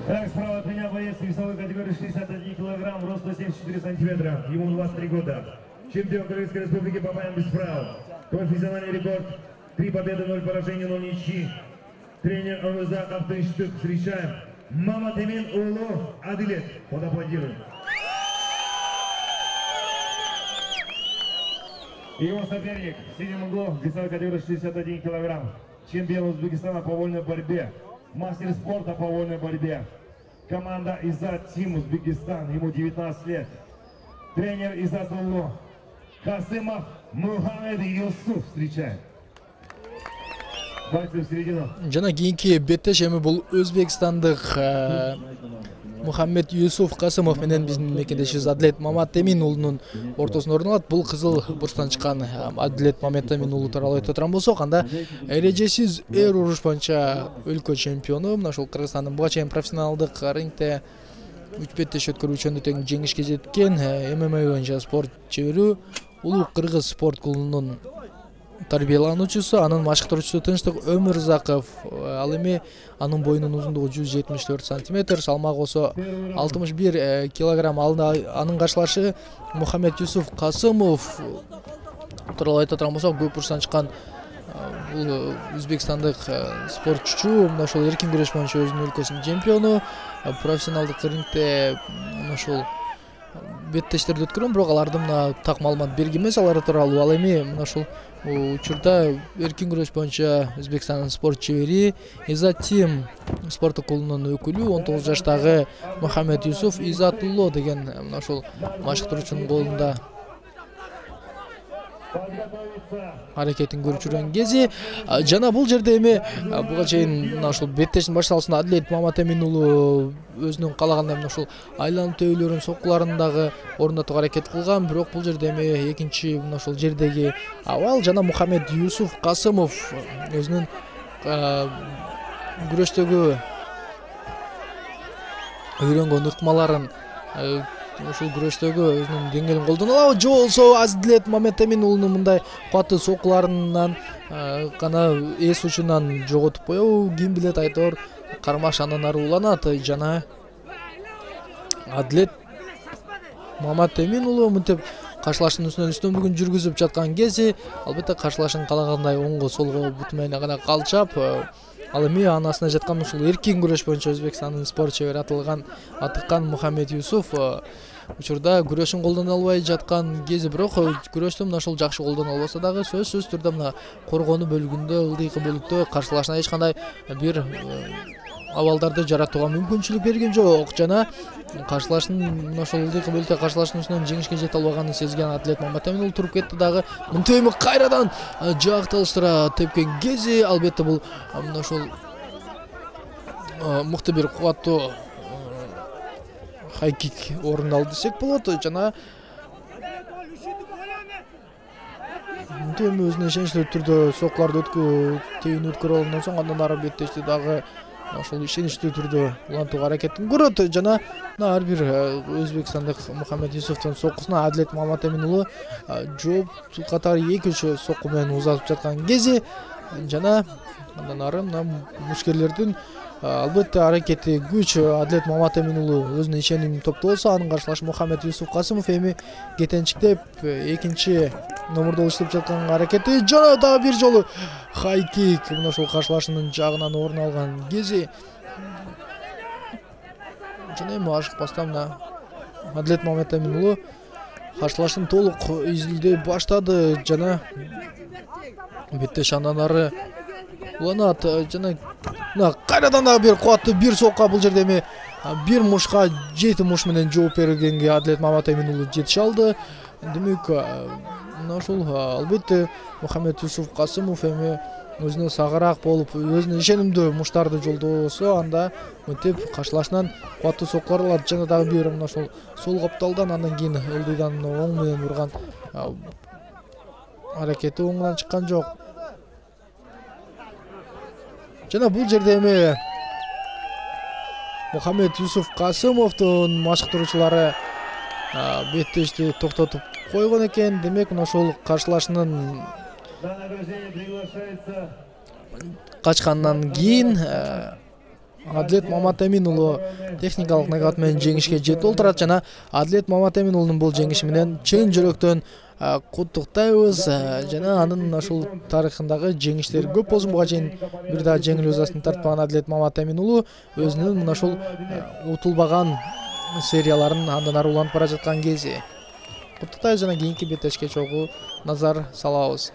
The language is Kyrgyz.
Так, справа от меня боец весовой категории 61 килограмм, рост 174 сантиметра, ему 23 года. Чемпион Кыргызской республики по боям без правил. Профессиональный рекорд 3 победы, 0 поражений, 0 ничьи. Тренер ОВЗ Автоинститут. Встречаем Маматемин уулу Адилет. Подаплодируем. Его соперник в синем углу, весовой категории 61 килограмм. Чемпион Узбекистана по вольной борьбе. Мастер спорта по вольной борьбе. Команда Изат Тим Узбекистан. Ему 19 лет. Тренер Изат уулу Касымов Мухаммед Юсуф. Встречаем. Бойцы в середину. Жана кийинки беттеш эми бул өзбекстандык Мухаммед Юсуф Касымов менен биздин мекендешибиз Адилет Маматемин уулунун ортосунда орун алат. Бул кызыл бурчтан чыккан Адилет Маматемин уулу тууралуу айтып отурган болсок, анда эрежесиз эр уруш боюнча өлкө чемпиону. Мына ушул Кыргызстандын буга чейин профессионалдык рингте 3 беттеш өткөрүүчүндө тең жеңишке жеткен ММА боюнча спорт чебери, улуу кыргыз спорт клубунун тарбиялануучусу, анын машыктыруучусу Тынчтык Өмүрзаков. Ал эми анын боюнун узундугу 174 сантиметр, салмагы болсо 61 килограмм. Анын каршылашы Мухаммед Юсуф Касымов тууралуу айтып отурган болсок, көп бурчтан чыккан бул өзбекстандык спортчу. Мына ошол эркин күрөш боюнча өзүнүн өлкөсүнүн чемпиону. Профессионалдык рингте мына ошол беттештерди өткөргөн, бирок аларды мына так маалымат берген эмес алар тууралуу. Ал эми мына ушул учурда эркин күрөш боюнча Өзбекстандын спорт чебери Изат Тим спорттук клубунун өкүлү 19 жаштагы Мухаммед Юсуф Изатулло деген мына ушул машыктыруучунун колунда аракетин көрүп жүргөн кези. Жана бул жерде эми буга чейин мына ушул беттештин башталышында Адилет Маматемин уулу өзүнүн каалагандай мына ушул айланып төбөлөрүн, соккуларын дагы орнотууга аракет кылган. Бирок бул жерде эми экинчи мына ушул жердеги абал жана Мухаммед Юсуф Касымов өзүнүн күрөштөгү үйрөнгөн ыкмаларын ушул күрөштөгү өзүнүн деңгээлин колдоно алабы же болбосо Адилет Маматемин уулунун мындай кубаттуу соккуларынан гана эс учунан жоготуп коебу, ким билет, айтор кармаш андан ары уланат. Жана Адилет Маматемин уулу мынтип каршылаштын үстөмдүгүн жүргүзүп жаткан кези албетте каршылашын каалагандай оңго солго бут менен гана калчап, ал эми анасына жаткан ушул эркин күрөш боюнча Өзбекстандын спорт чебери атыккан Мухаммед Юсуф учурда күрөшүн колдоно албай жаткан кези, бирок күрөштү мына ушул жакшы колдоно албаса дагы сөзсүз түрдө мына коргонуу бөлүгүндө, ылдыйкы бөлүктө каршылашына эч кандай бир абалдарды жаратууга мүмкүнчүлүк берген жок. Жана каршылаштын мына ошол ылдыйкы бөлүктө каршылаштын үстүнөн жеңишке жете албаганын сезген Адилет Маматемин уулу туруп кетти дагы мынтип эми кайрадан жакталыштыра тепкен кези. Албетте бул мына ошол мыкты бир кубаттуу хайкик орун алды десек болот. Жана мынтип эми өзүнө ишеничтүү түрдө соккуларды тебин өткөрүп алгандан соң андан ары беттешти дагы ошол ишеничтүү түрдө улантууга аракетин көрөт. Жана ар бир Өзбекстандык Мухаммед Юсуфтун соккусуна Адилет Маматемин уулу жооп катары 2-3 сокку менен узатып жаткан кези. Жана андан ары мына мушкерлердин албетте аракети күч. Адилет Маматемин уулу өзүнүн ишенимин топтолсо, анын каршылашы Мухаммед Юсуф Касымов эми кетенчиктеп экинчи номурда иштеп жаткан аракети. Жана дагы бир жолу хайкик мына ошол каршылашынын жагынан орун алган кези. Жана эми ашыкпастан мына Адилет Маматемин уулу каршылашын толук изилдей баштады. Жана беттеш андан ары уланат. Жана кайрадан дагы бир кубаттуу бир сокка, бул жерде эми бир мушка 7 муш менен жооп бергенге Адилет Маматемин уулу жетише алды. Демек мына ушул албетте Мухаммед Юсуф Касымов эми өзүнө сагыраак болуп, өзүнө ишенимдүү муштарды жолдосо, анда мынтип каршылашынан кубаттуу соккулар алат. Жана дагы бир мына ушул сол капталдан андан кийин ылдыйдан оң менен урган аракети оңунан чыккан жок. Жана бул жерде эми Мухаммед Юсуф Касымовдун машыктыруучулары беттешти токтотуп койгон экен. Демек мына ошол каршылашынын качкандан кийин Адлет Маматемин уулу техникалык нокаут менен жеңишке жетип олтурат жана Адлет Маматемин уулунун бул жеңиши менен чын жүрөктөн куттуктайбыз жана анын ушул тарыхындагы жеңиштери көп болсун. Буга чейин бир да жеңил өзасын тартпаган Адлет Маматемин уулу өзүнүн мына ушул утулбаган серияларын андан ары улантып бара жаткан кези. Куттуктайбыз жана кийинки беттешке чогуу назар салабыз.